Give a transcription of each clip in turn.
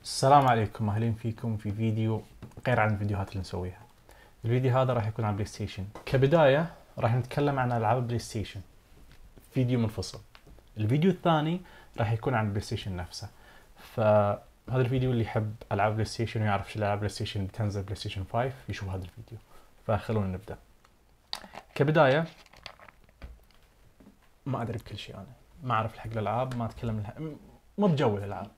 السلام عليكم، اهلين فيكم في فيديو غير عن الفيديوهات اللي نسويها. الفيديو هذا راح يكون عن بلاي ستيشن. كبداية راح نتكلم عن العاب بلاي ستيشن، فيديو منفصل. الفيديو الثاني راح يكون عن البلاي ستيشن نفسه. فهذا الفيديو اللي يحب العاب بلاي ستيشن ويعرف شو العاب بلاي ستيشن اللي بتنزل بلاي ستيشن 5 يشوف هذا الفيديو. فخلونا نبدأ. كبداية ما ادري بكل شيء، انا ما اعرف حق الالعاب، ما اتكلم مو بجو الالعاب،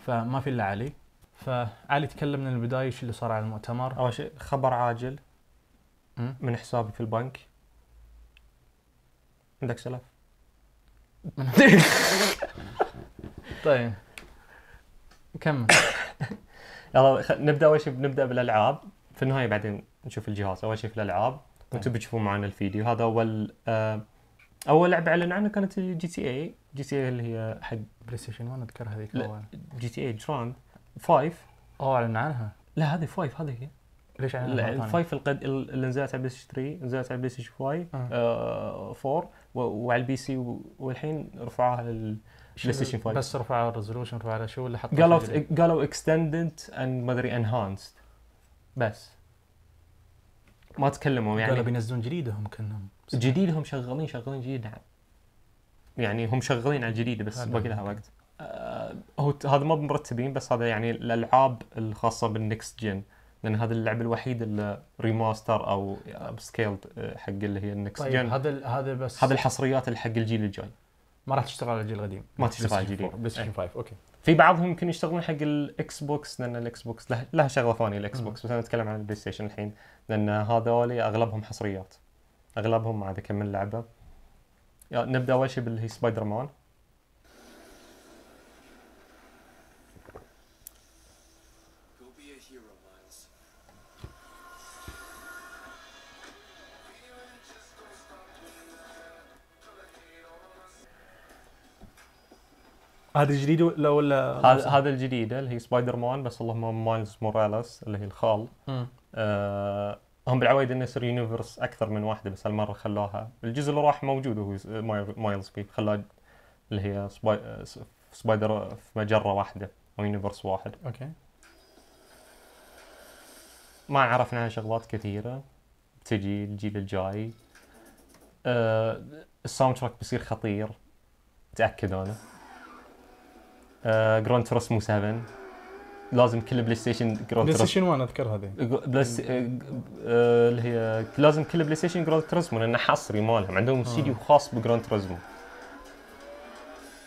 فما في الا علي. فعلي تكلم من البدايه شو اللي صار على المؤتمر. أول شيء خبر عاجل من حسابي في البنك. عندك سلف؟ طيب كمل. يلا نبدأ. أول شيء بنبدأ بالألعاب، في النهاية بعدين نشوف الجهاز. أول شيء في الألعاب وأنتم بتشوفون معنا الفيديو. هذا أول لعبة أعلن عنها كانت جي تي اي اللي هي حق بلاي ستيشن 1 اذكر هذيك اول. جي تي اي جراند 5. اعلن عنها. لا هذه 5، هذه هي. ليش اعلن عنها؟ الفايف اللي نزلت على بلاي ستيشن 3، نزلت على بلاي ستيشن 5 4 وعلى البي سي، والحين رفعوها للبلاي ستيشن 5. بس رفعوا الريزولوشن، رفعوا شو اللي حطوا؟ قالوا اكستندد اند ما ادري انهانسد، بس ما تكلموا. يعني قالوا بينزلون جديد. هم كانهم جديد، هم شغالين جديد. يعني هم شغالين على الجديد بس باقي لها وقت. هو هذا ما مرتبين، بس هذا يعني الالعاب الخاصه بالنكست جن، لان هذا اللعبه الوحيده اللي ريماستر او سكيلد حق اللي هي النكست جن. هذا بس هذا الحصريات اللي حق الجيل الجاي، ما راح تشتغل على الجيل القديم. ما تشتغل على الجديد. بلاي ستيشن 5 اوكي. في بعضهم يمكن يشتغلون حق الاكس بوكس، لان الاكس بوكس لها شغله ثانيه. الاكس بوكس، بس انا اتكلم عن البلاي ستيشن الحين، لان هذول اغلبهم حصريات، اغلبهم ما عاد اكمل لعبه. نبدا اول شيء باللي هي سبايدر مان. هذا الجديد ولا هذا الجديده اللي هي سبايدر مان، بس اللهم مايلز موراليس اللي هي الخال. هم بالعوايد انه يصير يونيفرس اكثر من واحده، بس هالمره خلوها الجزء اللي راح موجود وهو مايلز فيه، خلاه اللي هي سبايدر في مجره واحده او يونيفرس واحد. اوكي. ما عرفنا عنها شغلات كثيره، بتجي الجيل الجاي. الساوند تراك بيصير خطير، تاكدوا انا. جراند توريسمو 7 لازم كل بلاي ستيشن بلاي ستيشن 1 اذكر هذه اللي هي لازم كل بلاي ستيشن جراند توريسمو، لانه حصري مالهم، عندهم استديو خاص بجراند توريسمو.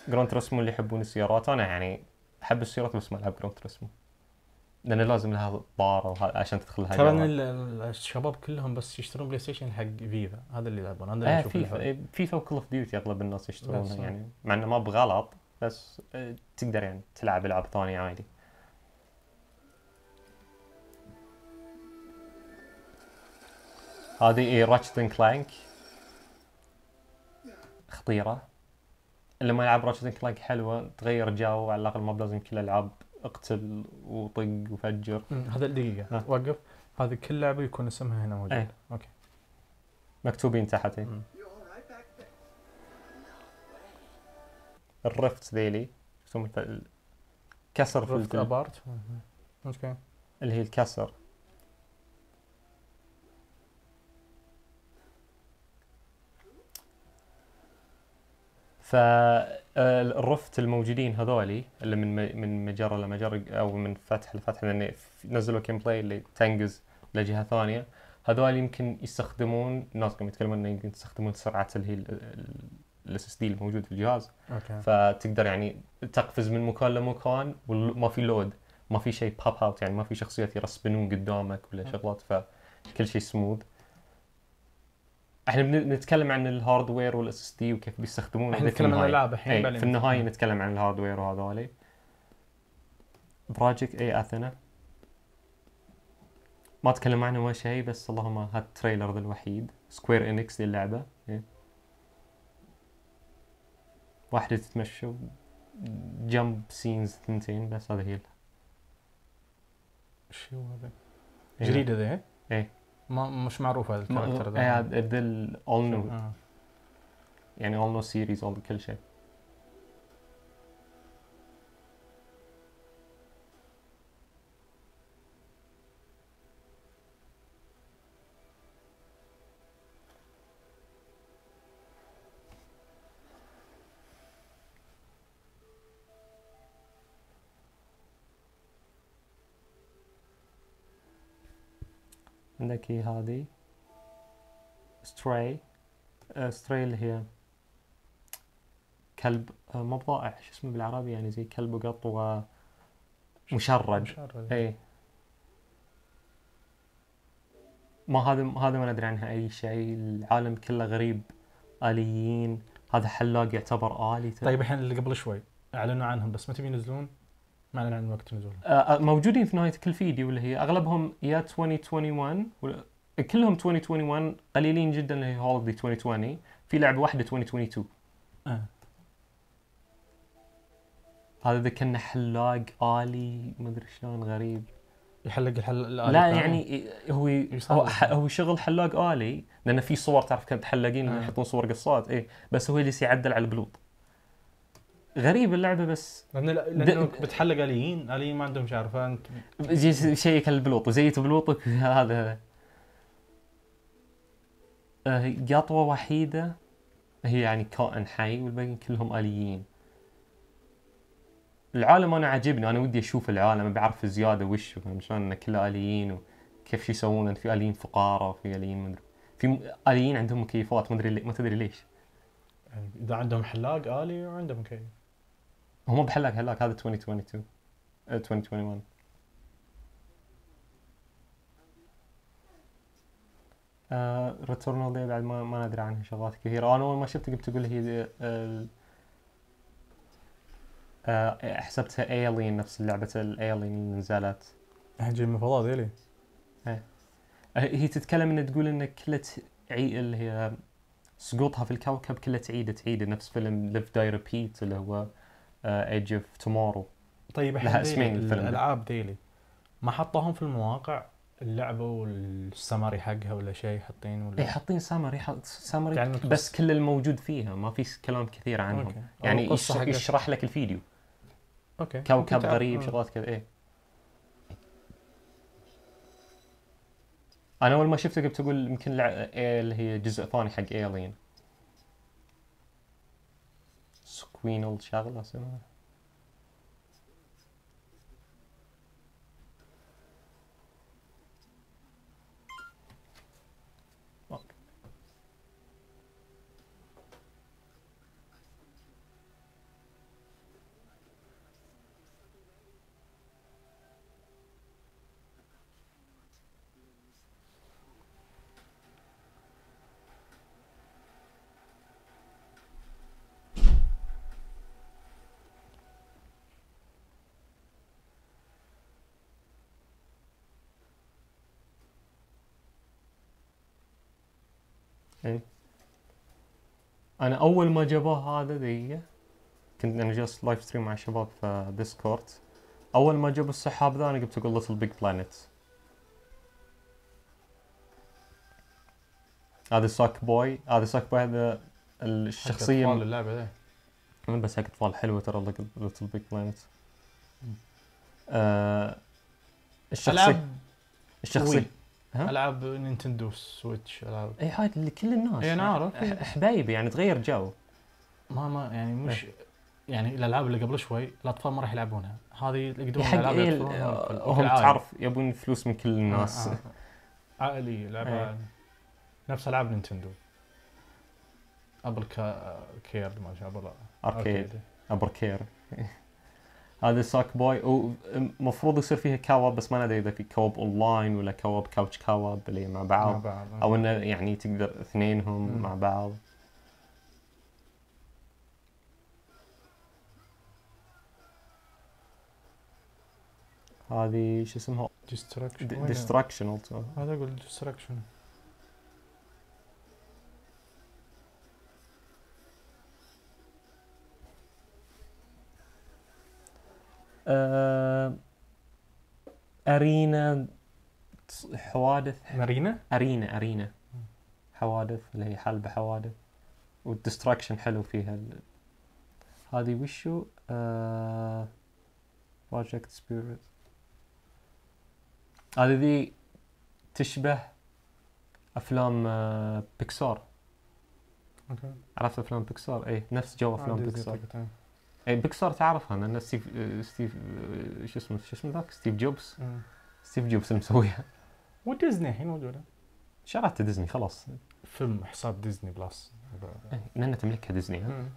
جراند توريسمو اللي يحبون السيارات، انا يعني احب السيارات بس ما العب جراند توريسمو، لان لازم لها طاره عشان تدخلها. ترى الشباب كلهم بس يشترون بلاي ستيشن حق فيفا، هذا اللي يلعبون. هذا اللي اشوف فيفا وكل اوف ديوتي اغلب الناس يشترونها، يعني مع انه ما بغلط، بس تقدر يعني تلعب العاب ثانيه عادي. هذه راتشت اند كلانك خطيره. اللي ما يلعب راتشت اند كلانك حلوه، تغير جو على الاقل، ما بلازم كل الالعاب اقتل وطق وفجر. هذا دقيقه وقف. هذه كل لعبه يكون اسمها هنا موجود. اوكي، مكتوبين تحت. الرفت ذيلي كسر في الابارت. اوكي، اللي هي الكسر. فالرفت الموجودين هذولي اللي من مجره لمجره او من فتح لفتح، لان نزلوا كيم بلاي اللي تنقز لجهه ثانيه. هذول يمكن يستخدمون، الناس كانوا يتكلمون انه يمكن يستخدمون سرعه اللي هي الاس اس دي الموجود في الجهاز. اوكي. فتقدر يعني تقفز من مكان لمكان وما في لود، ما في شيء باب اوت، يعني ما في شخصيات يرسبنون قدامك ولا شغلات، فكل شيء سموث. احنا بنتكلم عن الهاردوير والاس اس دي وكيف بيستخدمونه. احنا نتكلم عن الالعاب الحين، في النهايه نتكلم عن الهاردوير وهذولي. بروجكت اي اثينا ما تكلم عنه ما شيء، بس اللهم هذا التريلر الوحيد. سكوير انكس للعبه، واحده تتمشى جمب سينز ثنتين، بس هذا هي. شو هذا؟ جديد هذا؟ ايه ما مش معروف هذا الكاركتر ده. هذا اول نو، يعني اول نو سيريز، كل شيء. عندك هي هذه ستراي. ستراي اللي هي كلب مو بضائع، شو اسمه بالعربي يعني زي كلب وقط ومشرد. اي ما هذا ما ندري عنها اي شيء، العالم كله غريب. آليين، هذا حلاق يعتبر آلي. طيب الحين اللي قبل شوي اعلنوا عنهم بس متى بينزلون؟ ما اعلنوا عن وقت نزولهم. موجودين في نهاية كل فيديو، اللي هي اغلبهم يا 2021 كلهم 2021، قليلين جدا اللي هي هوليدي 2020، في لعبة واحدة 2022. هذا ذا كان حلاق آلي ما ادري شلون غريب. يحلق الآلي لا الثاني؟ يعني هو شغل حلاق آلي، لأن في صور تعرف كانت حلاقين يحطون صور قصات بس هو اللي يعدل على البلوط. غريب اللعبة بس لأنه بتحلق آليين ما عندهم شعر، فأنت شيك البلوط وزيت بلوطك. هذا قطوة وحيدة هي يعني كائن حي والباقيين كلهم آليين. العالم انا عجبني، انا ودي اشوف العالم، بعرف زياده وش فاهم شلون انه كله آليين وكيف شو يسوون. في آليين فقاره وفي آليين ما ادري، في آليين عندهم مكيفات ما ادري ما تدري ليش. يعني اذا عندهم حلاق آلي وعندهم مكيف. هم بحلاق هذا 2022 2021. ريتورنال دي بعد ما ندري عنها شغلات كثيره. انا اول ما شفت قلت اقول هي حسبتها ايلين، نفس لعبه الايلين اللي نزلت. هجي من فضاء ذيلي. هي تتكلم ان تقول ان كلها اللي هي سقوطها في الكوكب كلها تعيد نفس فيلم ليف داي ريبيت اللي هو ايج اوف تومورو. طيب لها اسمين الفيلم. الالعاب ذيلي ما حطوهم في المواقع اللعبه والسمري حقها ولا شيء حاطين ولا؟ حاطين سمري يعني بس كل الموجود فيها ما في كلام كثير عنهم. أوكي. يعني يشرح لك الفيديو. اوكي. كوكب غريب شغلات كذا. انا اول ما شفته قلت اقول يمكن اللي هي جزء ثاني حق ايلين. سكوينل شغله اسمها. انا اول ما جابوه هذا كنت انا جالس لايف ستريم مع شباب في ديسكورد. اول ما جابوا السحاب ذا انا قلت اقول ليتل بيج بلانيت. هذا ساك بوي هذا الشخصيه حق اللعبه ذي بس حق اطفال حلوه ترى ليتل بيج بلانيت. الشخصيه العاب نينتندو سويتش، العاب هاي اللي كل الناس انا عارف حبايبي يعني تغير جو. ما يعني مش يعني الالعاب اللي قبل شوي الاطفال ما راح يلعبونها، هذه يقدرون الالعاب هم تعرف يبون فلوس من كل الناس. عائلي لعبه نفس العاب نينتندو. ابل كير ما شاء الله اركيد هذا ساك بوي. ومفروض يصير فيها كواب بس ما ندري اذا في كواب اونلاين ولا كواب كاوتش كواب اللي مع بعض او انه يعني تقدر اثنينهم مع بعض. هذه شو اسمها؟ ديستراكشن. هذا اقول ديستراكشن. أرينا حوادث. أرينا حوادث اللي هي حلبة حوادث. والديستراكشن حلو فيها. هذه وشو بروجكت سبيريت. هذه ذي تشبه أفلام بيكسار. اوكي. عرفت أفلام بيكسار؟ نفس جو أفلام بيكسار. بيكسار تعرفها انا ستيف شو اسمه ذاك ستيف جوبز. ستيف جوبز المسويها. وديزني الحين موجوده. شريت ديزني خلاص. فيلم حساب ديزني بلس. لأن تملكها ديزني.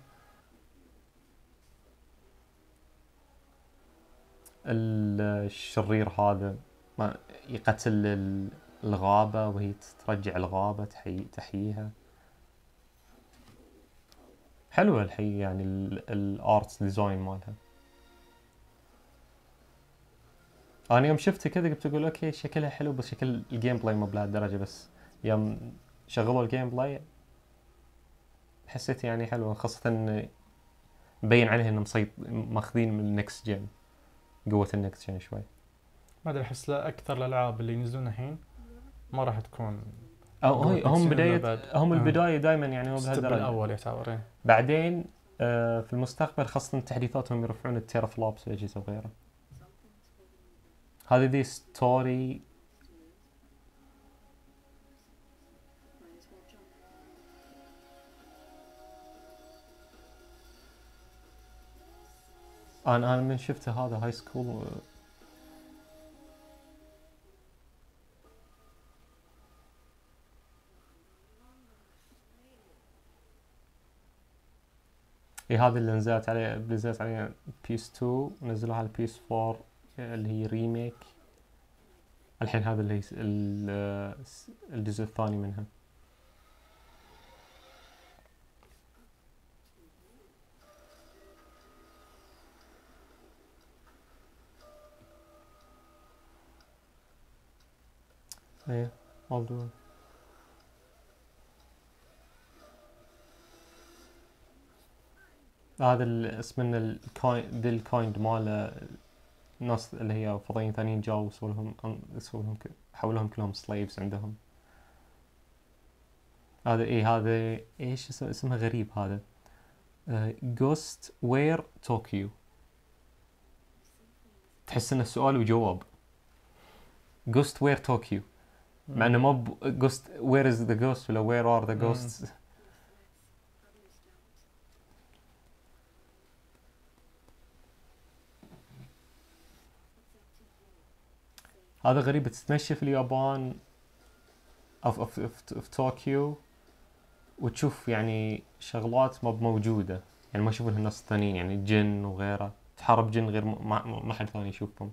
الشرير هذا ما يقتل الغابة وهي ترجع الغابة تحييها. حلوة الحين يعني الارتس ديزاين مالها. انا يوم شفته كذا قلت اقول اوكي شكلها حلو بس شكل الجيم بلاي مو بهالدرجة، بس يوم شغلوا الجيم بلاي حسيت يعني حلوة، خاصة انه مبين عليه انه ماخذين من النكست جن، قوة النكست جن شوي. ما ادري احس اكثر الالعاب اللي ينزلون الحين ما راح تكون هم البداية دائما يعني مو بهالدرجة. الاول يعتبر بعدين في المستقبل خاصة تحديثاتهم يرفعون التيرا فلوبس والاجهزة وغيره. هذه دي ستوري انا من شفته هذا هاي سكول هذا اللي نزلت عليه بيس 2 ونزلوها على بيس 4 اللي هي ريميك الحين. هذا اللي هي الجزء الثاني منها. ايه موضوع هذا اسمه الكايند ماله. الناس اللي هي فضائيين ثانيين جاوا سووا لهم حولوهم كلهم سلايفز عندهم. هذا ايش اسمه غريب هذا. جوست وير طوكيو. تحس انه سؤال وجواب. جوست وير طوكيو مع انه مو جوست وير از ذا جوست ولا وير ار ذا جوست. هذا غريب. تتمشى في اليابان في طوكيو وتشوف يعني شغلات ما موجودة، يعني ما يشوفونها الناس الثانيين، يعني جن وغيره. تحارب جن غير ما حد ثاني يشوفهم.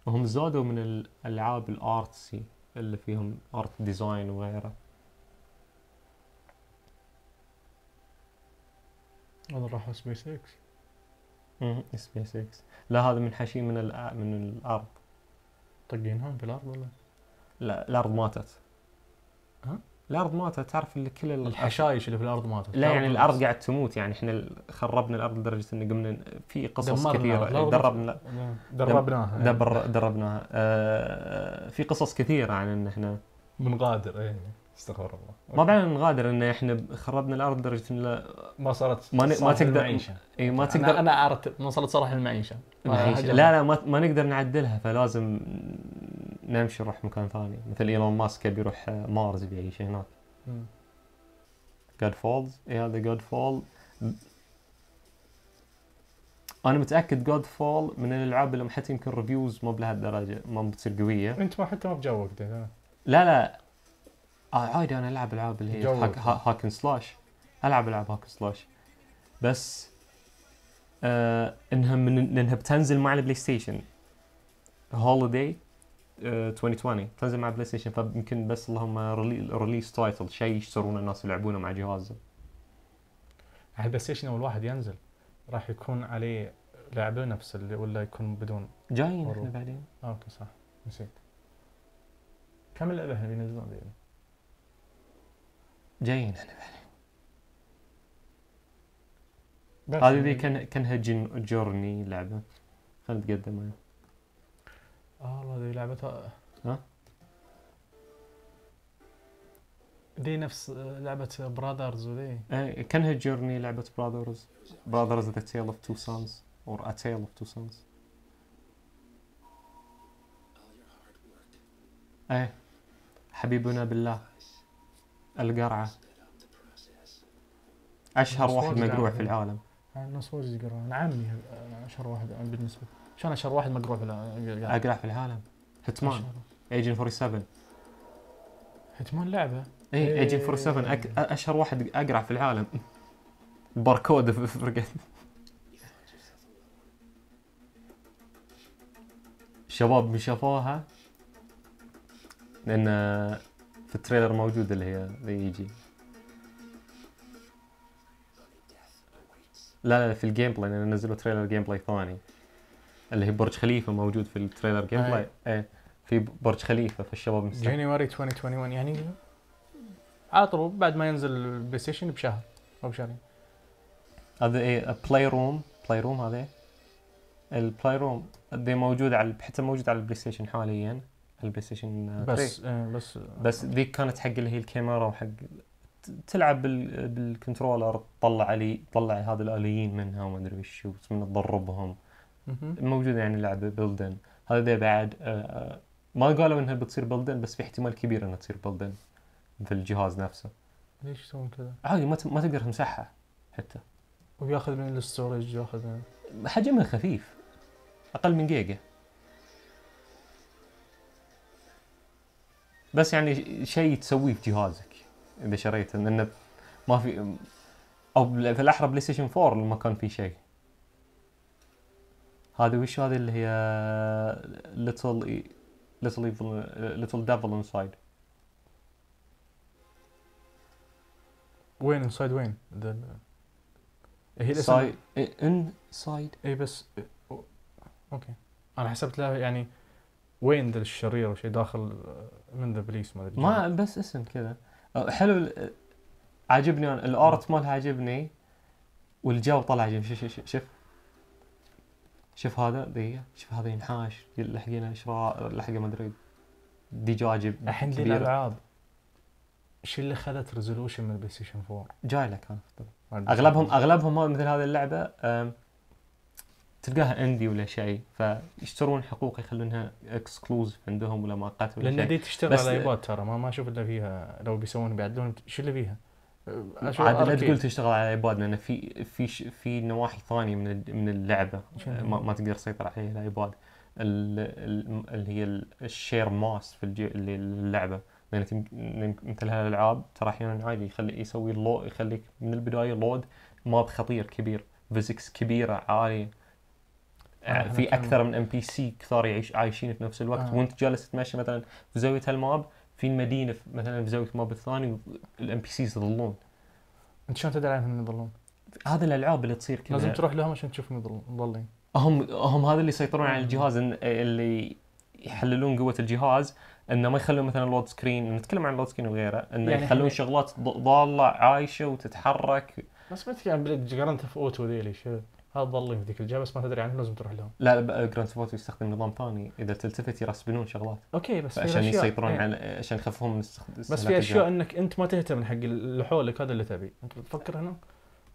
وهم زادوا من الألعاب الارتسي اللي فيهم ارت ديزاين وغيره. هذا راح سبيس اكس. سبيس اكس. لا هذا منحشين من الارض. طقينهم في الارض ولا؟ لا الارض ماتت. ها؟ الارض ماتت. تعرف اللي كل الحشايش اللي في الارض ماتت. لا يعني الارض قاعد تموت، يعني احنا خربنا الارض لدرجه ان قمنا في قصص كثيره دربناها. في قصص كثيره عن ان احنا بنغادر. استغفر الله. ما بعنا نغادر، ان احنا خربنا الارض لدرجه ان ما صارت ما تقدر المعيشة. ما تقدر. انا عرفت ما وصلت صراحه المعيشه. لا ما نقدر نعدلها، فلازم نمشي نروح مكان ثاني. مثل ايلون ماسك بيروح مارس بيعيش هناك. جاد فولز. هذا جاد فول. انا متاكد جاد فول من الالعاب اللي حتى يمكن ريفيوز مو بلهالدرجه ما بتصير قويه. انت ما حتى ما بجوك ده. لا عادي انا العب العاب اللي هي هاكن سلاش. العب هاكن سلاش بس انها بتنزل مع البلاي ستيشن هوليداي 2020 تنزل مع بلاي ستيشن، فيمكن بس اللهم ريليس تايتل شيء يشترون الناس يلعبونه مع جهازه. على البلاي ستيشن اول واحد ينزل راح يكون عليه لعبه نفس اللي ولا يكون بدون؟ جايين احنا بعدين. اوكي صح نسيت. كم اللعبه اللي ينزلون ذي؟ جايين احنا بعدين. هذه ذي كانها جورني لعبه. خلينا نتقدم. والله ذي لعبتها. ها دي نفس لعبة براذرز وذي. كانها جورني لعبة براذرز The Tale of Two Sons or A Tale of Two Sons. حبيبنا بالله، القرعة، اشهر الناس واحد واجد مقروع يعرفون. في العالم. الناس واجد يقرأون. أنا عمي أشهر واحد بالنسبة. شان أشهر واحد مقروع في اقرع في العالم هيتمان، ايجنت 47. هيتمان لعبة. اي ايجنت 47 اشهر واحد اقرع في العالم. باركود في فرقة. شباب من شافوها لان في التريلر موجود اللي هي يجي. لا في الجيم بلاي، لان نزلوا تريلر جيم بلاي ثاني اللي هي برج خليفة موجود في التريلر جيم بلاي. ايه في برج خليفة في الشباب مستقبل. جانيوري 2021 يعني على طول بعد ما ينزل البلاي ستيشن بشهر او بشهرين. هذا ايه بلاي روم هذا البلاي روم دي موجود على حتى موجود على البلاي ستيشن حاليا، البلاي ستيشن بس ذيك كانت حق اللي هي الكاميرا وحق تلعب بالكنترولر، تطلع هذا الآليين منها وما ادري وش من تضربهم. موجودة يعني لعبة بلدن. هذا دي بعد ما قالوا انها بتصير بلدن، بس في احتمال كبير انها تصير بلدن في الجهاز نفسه. ليش يسوون كذا؟ عادي ما تقدر تمسحها حتى، وياخذ من الستورج ياخذ حجمها خفيف اقل من جيجا. بس يعني شيء تسويه في جهازك اذا شريته، لانه ما في او في الاحرى بلاي ستيشن 4 ما كان في شيء. هذه وش هذه اللي هي little devil inside. وين انسايد وين؟ هي الاسم انسايد. اي بس اوكي انا حسبت لها يعني وين ذا الشرير وشيء داخل من ذا بليس ما ادري. ما بس اسم كذا حلو. عاجبني انا الارت مالها عاجبني، والجو طلع عجيب. شوف هذا دقيقة، شوف هذا ينحاش لحقنا لحقه ما ادري دجاجة الحين ذي الالعاب ايش اللي خذت ريزولوشن من البلاي ستيشن 4 جاي لك انا اغلبهم مثل هذه اللعبة تلقاها اندي ولا شيء، فيشترون حقوق يخلونها اكسكلوزيف عندهم ولا مؤقت ولا شيء. لان دي تشتغل على ايباد ترى ما اشوف الا فيها لو بيسوون بيعدلون ايش اللي فيها. عاد لا تقول تشتغل على ايباد، لان في نواحي ثانيه من اللعبه ما تقدر تسيطر عليها الايباد، اللي هي الشير ماس في اللعبه. لان مثل هالالعاب ترى احيانا عادي يخليك من البدايه لود ماب خطير كبير، فيزكس كبيره عاليه، في اكثر من ام بي سي كثار عايشين في نفس الوقت. وانت جالس تمشي مثلا في زاويه هالماب، في المدينه مثلا في زاويه الماب الثاني الام بي سيز يظلون. انت شلون تدري عنهم يظلون؟ هذه الالعاب اللي تصير كذا لازم تروح لهم عشان تشوفهم مظلين. هم هذا اللي يسيطرون على الجهاز، اللي يحللون قوه الجهاز، انه ما يخلون مثلا لود سكرين، نتكلم عن لود سكرين وغيره، انه يعني يخلون شغلات ضاله عايشه وتتحرك. بس ما تفهم جرانت في اوتو ذيلي شو هذا ضلين في ذيك الجهه، بس ما تدري عنهم لازم تروح لهم. لا جراند ثيفت أوتو يستخدم نظام ثاني، اذا تلتفت يرسبنون شغلات. اوكي بس عشان يسيطرون على عشان يخففون من بس في اشياء انك انت ما تهتم حق اللي حولك، هذا اللي تبي انت تفكر هنا.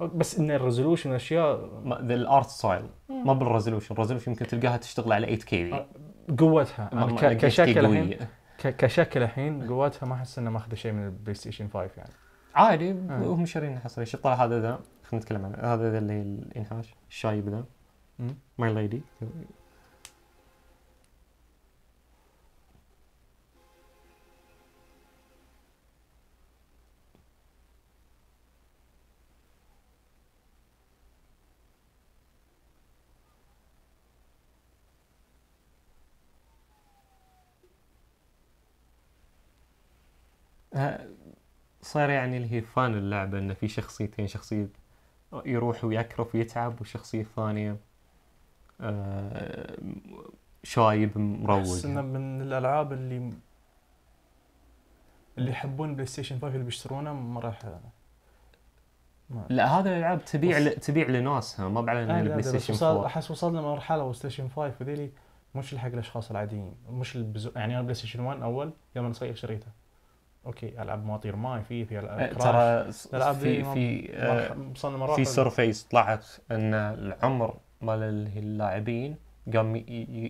بس ان الريزولوشن اشياء الارت ستايل ما بالريزولوشن. الريزولوشن يمكن تلقاها تشتغل على 8K قوتها كشكل الحين كشكل الحين قوتها ما احس انه ماخذ شيء من البلاي ستيشن 5 يعني عادي. وهم شارين حصري. شو طلع هذا ذا، خلينا نتكلم عنه. هذا اللي هي الانحاش الشايب ذا ماي ليدي. صار يعني اللي هي فان اللعبة، إنه في شخصيتين، شخصية يروح ويكرف ويتعب، وشخصية ثانية شايب مروج. أحس إنه من الألعاب اللي يحبون بلاي ستيشن 5 اللي بيشترونه ما راح. لا هذا الألعاب تبيع لناسها، ما بعلن البلاي ستيشن 4. أحس وصلنا مرحلة بلاي ستيشن 5 وذيلي مش حق الأشخاص العاديين، مش يعني أنا بلاي ستيشن 1 أول يوم أنا صغير شريته. اوكي العاب مواطير ماي في العاب ترى في سيرفيس طلعت ان العمر مال اللاعبين قام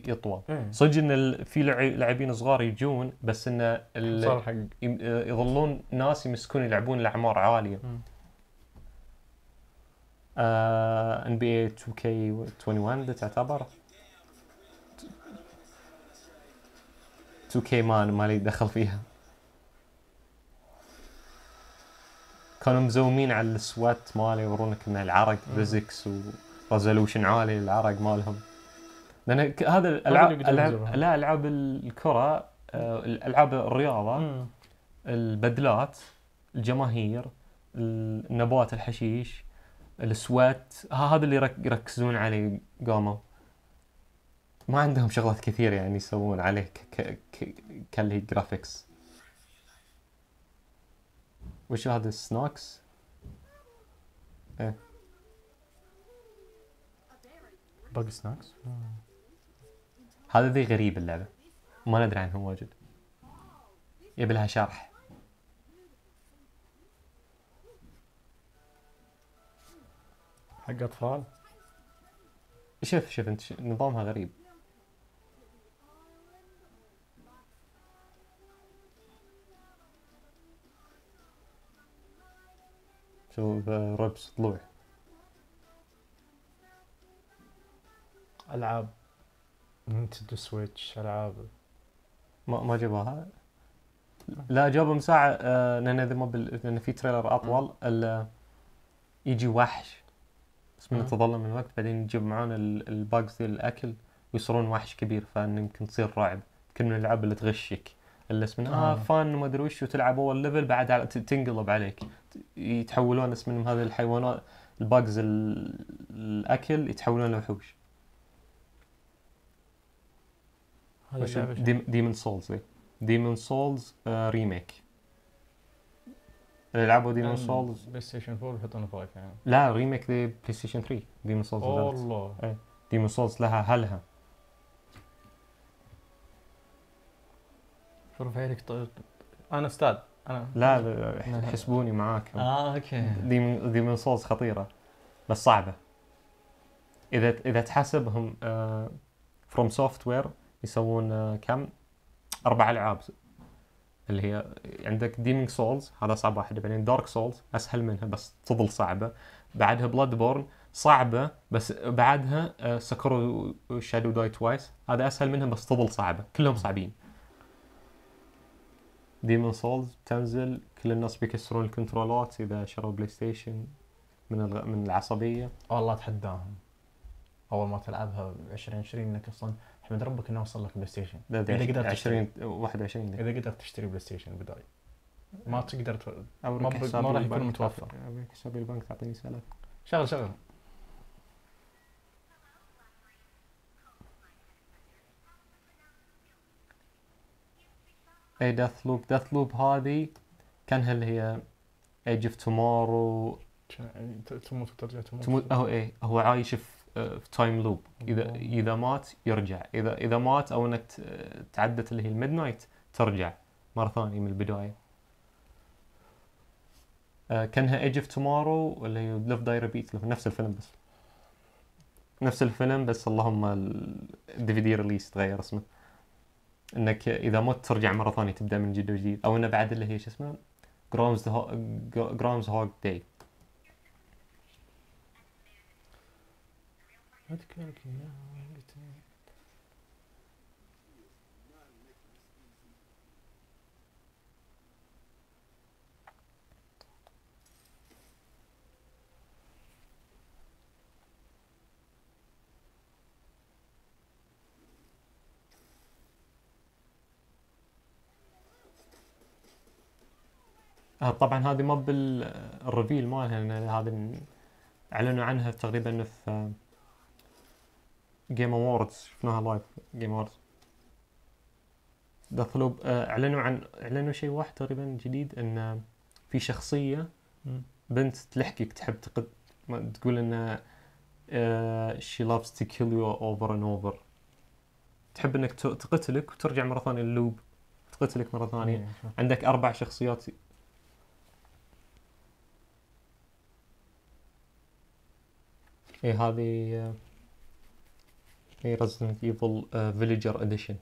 يطول. إيه. صدق ان في لاعبين صغار يجون، بس ان صار حق يظلون ناس يمسكون يلعبون الاعمار عاليه. NBA 2K21 تعتبر 2K ما لي دخل فيها. كانوا مزومين على السوات مالي يورونك ان العرق فيزكس وريزولوشن عالي للعرق مالهم. لان هذا الالعاب لا العاب الكره، الالعاب الرياضه، البدلات، الجماهير، النبات، الحشيش، السوات، هذا اللي يركزون عليه. قاموا ما عندهم شغلات كثير يعني يسوون عليه كاللي جرافيكس. وش هذا السناكس؟ ايه باقي سناكس. هذا ذي غريب اللعبة، ما ندري عنه واجد، يبي لها شرح. حق اطفال. شوف انت نظامها غريب. شوف ربس طلوع. العاب نينتندو سويتش، العاب ما جابوها. لا جابوا مساعة، لان اذا لان في تريلر اطول يجي وحش بس من تظلم من الوقت، بعدين يجيب معانا الباجز ذي الاكل ويصيرون وحش كبير، فان يمكن تصير رعب. يمكن من الالعاب اللي تغشك، اللي اسمه فان وما ادري وش، وتلعب اول ليفل بعد تنقلب عليك، يتحولون اسمهم هذه الحيوانات الباجز الاكل يتحولون لوحوش. ديمون سولز. ديمون سولز ريميك. اللي لعبوا ديمون سولز بلاي ستيشن 4 يحطونه 5 يعني. لا ريميك ذي بلاي ستيشن 3. ديمون سولز والله ايه ديمون سولز لها هلها. شوف عليك انا استاذ انا. لا حسبوني معاك. اوكي. ديمون سولز خطيره بس صعبه. اذا تحسبهم فروم سوفت وير يسوون كم 4 ألعاب، اللي هي عندك ديمينج سولز هذا صعب واحد، بعدين دارك سولز اسهل منها بس تظل صعبه، بعدها بلاد بورن صعبه بس بعدها سكرو شادو داي توايس هذا اسهل منها بس تظل صعبه، كلهم صعبين. ديمون سولز تنزل كل الناس بيكسرون الكنترولات اذا شروا بلاي ستيشن من العصبيه. والله اتحداهم اول ما تلعبها 2020 انك اصلا احمد ربك انه وصل لك بلاي ستيشن. اذا قدرت 2021 اذا قدرت تشتري بلاي ستيشن بداية ما تقدر ما راح يكون متوفر. حسابي البنك تعطيني سالفه. شغل اي ديث لوب هذه كانها اللي هي ايج اوف تومورو. تموت وترجع تموت. هو عايش في تايم لوب. اذا مات يرجع، اذا مات او انك تعدت اللي هي الميد نايت ترجع مره ثانيه من البدايه. كانها ايج اوف تومورو ولا هي ليف داي ريبيت، نفس الفيلم بس اللهم الدي في دي ريليس تغير اسمه، انك اذا مت ترجع مره ثانيه تبدا من جديد، او انه بعد اللي هي شو اسمه جرامز هوج داي. طبعا هذه ما بالريفيل مالها، هذا اعلنوا عنها تقريبا في جيم اووردز، شفناها لايف جيم اووردز. ديث لوب اعلنوا شيء واحد تقريبا جديد، ان في شخصيه بنت تلحقك تحب تقول ان she loves to kill you over and over، تحب انك تقتلك وترجع مره ثانيه اللوب تقتلك مره ثانيه. عندك 4 شخصيات. هذه هي Resident Evil Villager Edition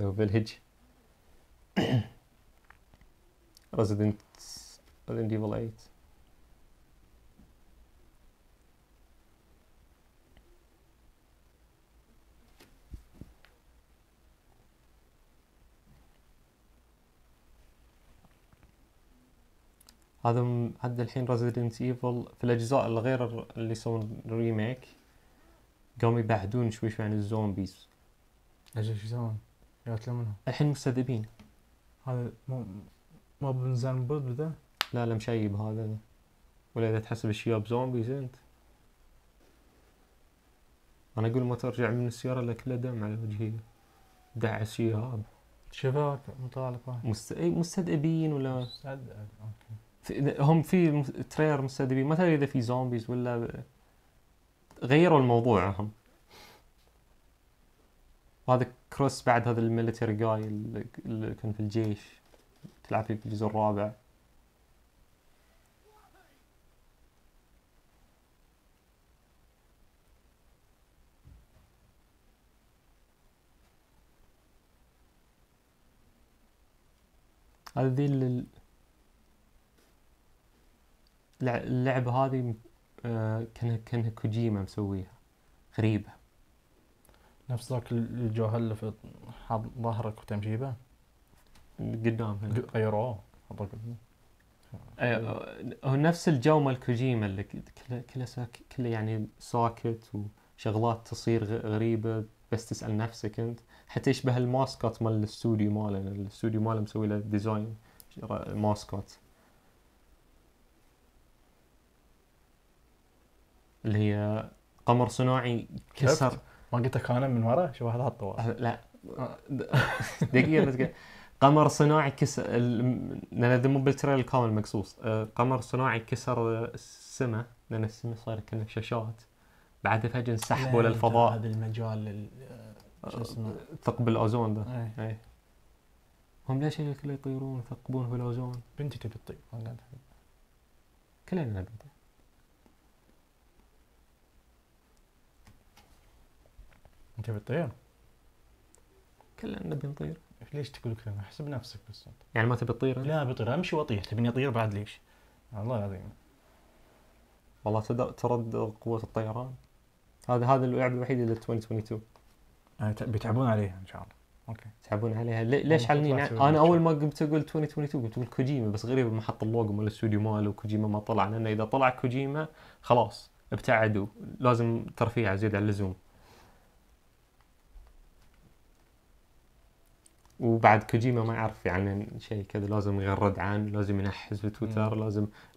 أو Village. Resident Evil 8. هذا الحين Resident Evil في الأجزاء الغير اللي يسوون ريميك قاموا يبعدون شوي عن الزومبيز. اجل شو يسوون؟ يقتلون منهم. الحين مستذئبين. هذا مو بنزان بود بدا؟ لا مشيب هذا. ولا إذا تحسب الشياب زومبيز أنت. أنا أقول ما ترجع من السيارة إلا كله دم على وجهي. دعس شياب. شباك مطالق واحد. مستذئبين ولا اوكي. هم في تريلر مستذئبين، ما تدري اذا في زومبيز ولا غيروا الموضوع هم. هذا كروس بعد هذا الميليتري جاي اللي كان في الجيش تلعب فيه في الجزء الرابع. هذه اللعبة هذه كانها كوجيما مسويها، غريبة. نفس ذاك الجوهر اللي في حاط ظهرك وتمشي به قدام هنا غيروه. هو نفس الجو مال كوجيما اللي كله يعني ساكت وشغلات تصير غريبة بس تسأل نفسك انت. حتى يشبه الماسكات مال الاستوديو ماله، الاستوديو ماله مسوي له ديزاين ماسكات اللي هي قمر صناعي كسر. ما قلت لك انا من ورا شو هذا الطوال. لا دقيقة قمر صناعي كسر لأن مو بالتريل الكامل مقصوص. قمر صناعي كسر السماء لأن السماء صار كأنه شاشات، بعدها فجأة انسحبوا للفضاء. هذا المجال شو اسمه ثقب الأوزون ده. أي. هم ليش كله يطيرون يثقبون في الأوزون؟ بنتي تبي تطير كلنا نبي نطير. انت بتطير؟ كلنا نبي نطير. ليش تقول كذا؟ احسب نفسك بس انت. يعني ما تبي تطير؟ لا بطير، امشي واطير. تبيني اطير بعد ليش؟ والله العظيم. والله ترد قوة الطيران. هذا اللعبة الوحيدة اللي 2022 بيتعبون عليها ان شاء الله. اوكي يتعبون عليها. ليش علني؟ انا اول ما قمت اقول 2022 قلت كوجيما، بس غريب ما حط اللوجو مال الاستوديو ماله وكوجيما ما طلع، لانه اذا طلع كوجيما خلاص ابتعدوا، لازم ترفيع زيادة عن اللزوم. وبعد كوجيما ما يعرف يعني شيء كذا، لازم يغرد عنه، لازم ينحز في تويتر،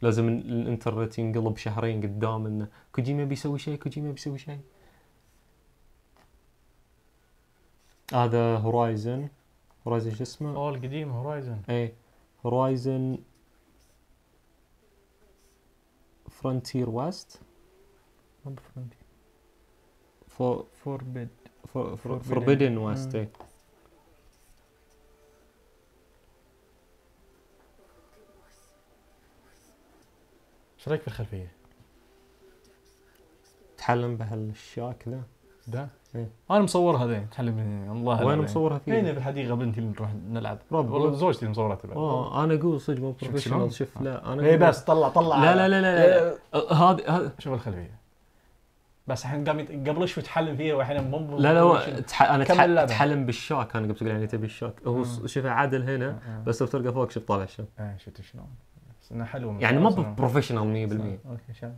لازم الانترنت ينقلب شهرين قدام انه كوجيما بيسوي شيء. هذا هورايزن شو اسمه؟ القديم هورايزن. ايه هورايزن فرونتير ويست. مو بفرونتير. فوربيدن ويست. ايه ايش رايك في الخلفيه؟ تحلم بهالشياك ذا؟ ده إيه؟ انا مصورها ذي تحلم الله. وين مصورها فيه؟ هنا بالحديقه بنتي اللي نروح نلعب. والله زوجتي اللي مصورتها بعد. انا اقول صدق مو بروفيشنال. شوف لا انا اي بس طلع لا هذا شوف الخلفيه بس الحين قبل شوي تحلم فيها والحين مو. لا انا تحلم بالشاك. انا قبل تقول يعني تبي الشاك. هو شوف عادل هنا بس لو تلقى فوق شوف طالع الشاك. شفت شلون؟ بس انه حلو يعني مو بروفيشنال 100%. اوكي شايف.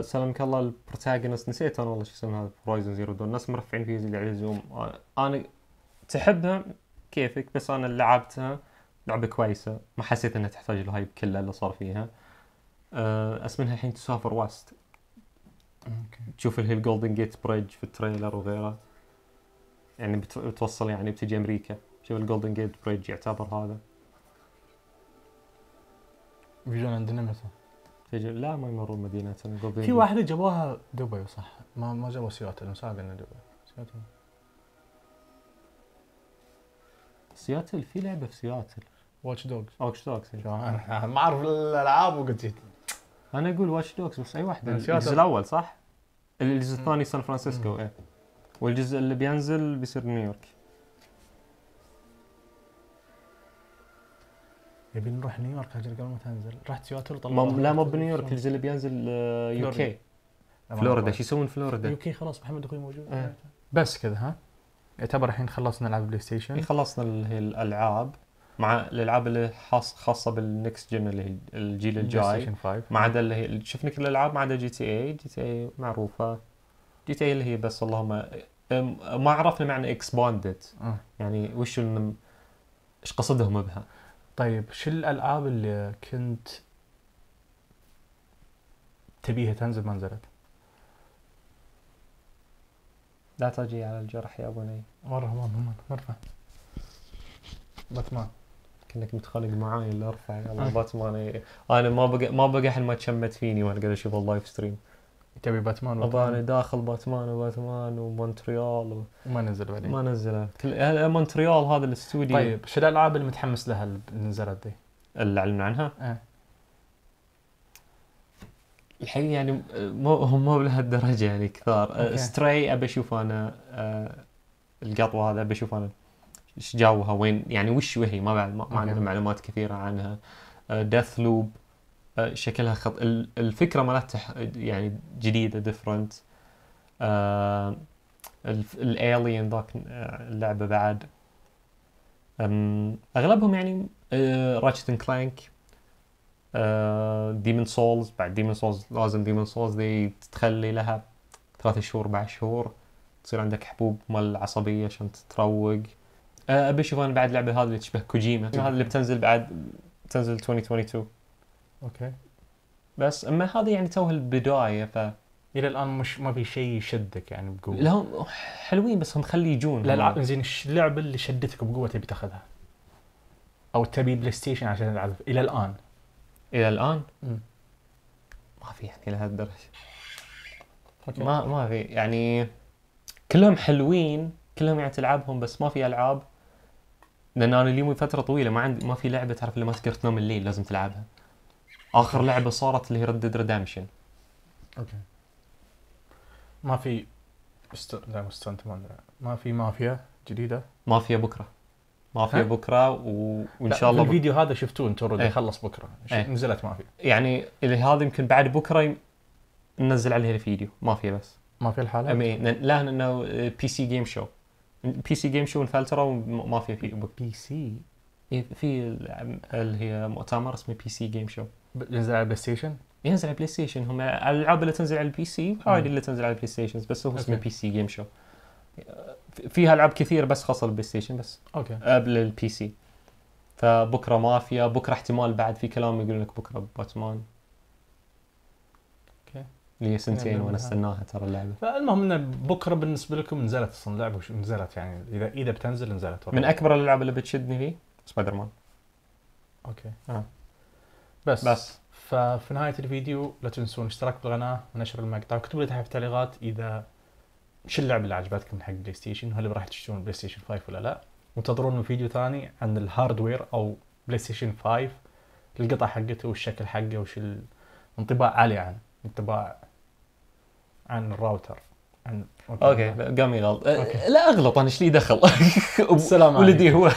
سلامك الله. البروتاغونست نسيت انا والله شو اسمه هذا. هورايزن زيرو دون الناس مرفعين فيه زي على اللزوم. انا تحبها كيفك، بس انا لعبتها لعبه كويسه، ما حسيت انها تحتاج الهايب كله اللي صار فيها. اسمها الحين تسافر وست. تشوف اللي هي الجولدن جيت بريدج في التريلر وغيره، يعني بتوصل يعني بتجي امريكا. شوف الجولدن جيت بريدج يعتبر هذا. بيجون عندنا متى؟ لا ما يمرون مدينتنا. في واحدة جابوها دبي صح؟ ما جابوا سياتل. مساق لنا دبي. سياتل في لعبة في سياتل. واتش دوجز. واتش دوجز. انا ما اعرف الالعاب وقلت انا اقول واتش دوكس بس اي واحده. من سياتل. الجزء الاول صح؟ الجزء الثاني سان فرانسيسكو ايه، والجزء اللي بينزل بيصير نيويورك. يبي نروح نيويورك اجل قبل ما تنزل. رحت سياتل لا مو بنيويورك، الجزء اللي بينزل يو كي فلوريدا. شو يسوون فلوريدا؟ يو كي خلاص محمد اخوي موجود. إيه. بس كذا ها، يعتبر الحين خلصنا العاب بلاي ستيشن. خلصنا اللي هي الالعاب، مع الالعاب اللي خاصه بالنكست جن اللي هي الجيل بلاي الجاي، ستيشن 5 ما عدا اللي هي شفنا كل الالعاب ما عدا جي تي اي معروفه. جي تي اي اللي هي بس اللهم ما عرفنا معنى اكسباندد يعني وش ايش قصدهم بها. طيب شو الالعاب اللي كنت تبيها تنزل ما نزلت؟ لا تجي على الجرح يا بني. مرة باتمان كأنك متخانق معاي اللي ارفع يلا باتمان. انا ما بقى حل ما تشمت فيني وانا قاعد اشوف اللايف ستريم. تبي باتمان انا داخل باتمان ومونتريال وما نزل بعدين. ما نزله كل مونتريال هذا الاستوديو. طيب شو الالعاب اللي متحمس لها اللي نزلت دي؟ اللي اعلنوا عنها؟ الحقيقة يعني مو لهالدرجة يعني كثار. ستراي ابى اشوف انا القطوة هذا ابى اشوف انا ايش جاوها وين يعني وش وهي ما عندنا معلومات كثيرة عنها. ديث لوب شكلها الفكرة مالتها يعني جديدة ديفرنت. الالين ذاك اللعبة بعد اغلبهم يعني راتشت اند كلانك. ديمون سولز بعد ديمون سولز لازم ديمون سولز دي تخلي لها 3 شهور 4 شهور تصير عندك حبوب مال العصبية عشان تتروق. ابي اشوف انا بعد لعبة هذه اللي تشبه كوجيما هذا اللي بتنزل بعد تنزل 2022. اوكي بس اما هذه يعني توها البداية الى الان مش ما في شيء يشدك يعني بقوة. لا حلوين بس هم خلي يجون. لا زين اللعبة اللي شدتك بقوة تبي تاخذها او تبي بلاي ستيشن عشان تلعب الى الان؟ ما في يعني لهالدرجة. ما في يعني كلهم حلوين كلهم يعني تلعبهم بس ما في العاب. لان انا اليوم فترة طويلة ما في لعبة تعرف اللي ما تقدر تنام الليل لازم تلعبها. اخر لعبة صارت اللي هي Red Dead Redemption. اوكي ما في ما في مافيا جديدة. مافيا بكرة وان شاء الله الفيديو هذا شفتوه انتم اوريدي خلص بكرة نزلت مافيا يعني اللي هذا يمكن بعد بكرة ننزل عليه الفيديو مافيا بس مافيا الحالة لا انه بي سي جيم شو انفلترا ومافيا في بي سي في اللي هي مؤتمر اسمه بي سي جيم شو ينزل على بلاي ستيشن. ينزل على بلاي ستيشن. هم الالعاب اللي تنزل على البي سي هاي اللي تنزل على البلاي ستيشن بس هو اسمه بي سي جيم شو. فيها العاب كثير بس خاصه بالبلاي ستيشن بس قبل البي سي. فبكره مافيا بكره احتمال بعد في كلام يقول لك بكره باتمان. اوكي لي سنتين وانا استناها ترى اللعبه. فالمهم ان بكره بالنسبه لكم نزلت اصلا اللعبه نزلت يعني اذا بتنزل نزلت من اكبر الالعاب اللي بتشدني فيه سبايدر مان. اوكي بس ففي نهايه الفيديو لا تنسون الاشتراك بالقناه ونشر المقطع وكتبوا لي تحت في التعليقات اذا شو اللعبه اللي عجبتكم حق بلاي ستيشن وهل راح تشترون بلاي ستيشن 5 ولا لا. وانتظرون فيديو ثاني عن الهاردوير او بلاي ستيشن 5 القطع حقته والشكل حقه وش الانطباع عليه عنه انطباع عن الراوتر عن اوكي قام يغلط. لا اغلط انا ايش لي دخل. السلام عليكم. ولدي هو